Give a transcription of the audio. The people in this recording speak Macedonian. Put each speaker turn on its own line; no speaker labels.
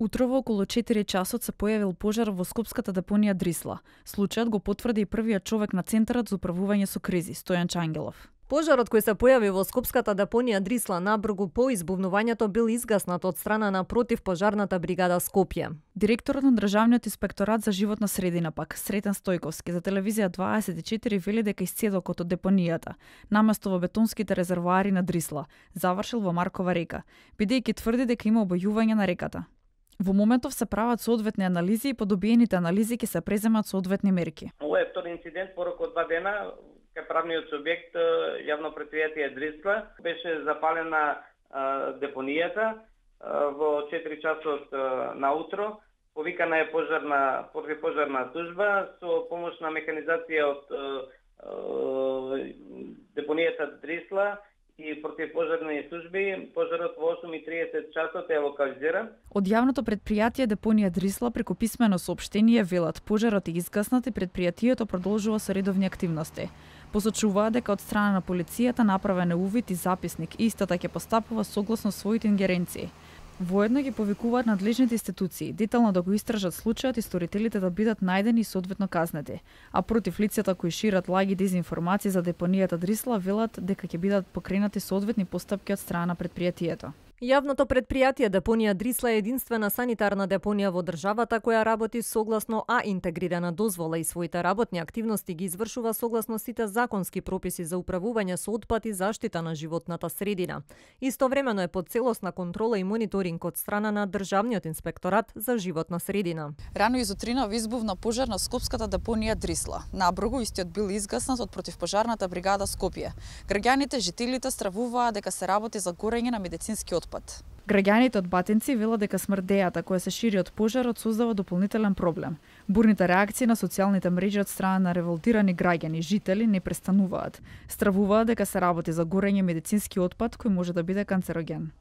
Утрово околу 4 часот се појавил пожар во скопската депонија Дрисла. Случајот го потврди и првиот човек на Центарот за управување со кризи, Стојан Чангелов.
Пожарот кој се појави во скопската депонија Дрисла набргу по избувнувањето бил изгаснат од страна на противпожарната бригада Скопје.
Директорот на Државниот инспекторат за животна средина пак, Сретен Стојковски, за телевизија 24 вели дека исцедокот од депонијата, наместо во бетонските резервоари на Дрисла, завршил во Маркова река, бидејќи тврди дека има обојување на реката. Во моментов се прават соодветни анализи и по добиените анализи ќе се преземат соодветни мерки.
Ова е втори инцидент порок од 2 дена кај правниот субјект јавно претпријатие Дрисла. Беше запалена депонијата во 4 часот наутро. Повикана е противпожарна служба со помош на механизација од депонијата Дрисла и противпожарни служби. Пожарот во 8:30 часот е локализиран.
Од јавното претпријатие депонија Дрисла преку писмено соопштение велат пожарот е изгаснат и претпријатието продолжува со редовни активности. Посочуваат дека од страна на полицијата направен е увид и записник и истата ќе постапува согласно своите ингеренции. Воедно ги повикуваат надлежните институции детално да го истражат случајот и сторителите да бидат најдени и соодветно казнети, а против лицата кои шират лаги дезинформации за депонијата Дрисла велат дека ќе бидат покренати соодветни постапки од страна на претпријатието.
Јавното претпријатие депонија Дрисла е единствена санитарна депонија во државата која работи согласно интегрирана дозвола и своите работни активности ги извршува согласно сите законски прописи за управување со отпад и заштита на животната средина. Истовремено е под целосна контрола и мониторинг од страна на Државниот инспекторат за животна средина.
Рано изутринава избувна пожар на скопската депонија Дрисла. Набргу истиот бил изгаснат од противпожарната бригада Скопје. Граѓаните, жителите стравуваа дека се работи за горење на медицински отпад. Граѓаните од Батинци велат дека смрдејата која се шири од пожарот создава дополнителен проблем. Бурните реакции на социјалните мрежи од страна на револтирани граѓани и жители не престануваат. Стравуваат дека се работи за горење медицински отпад кој може да биде канцероген.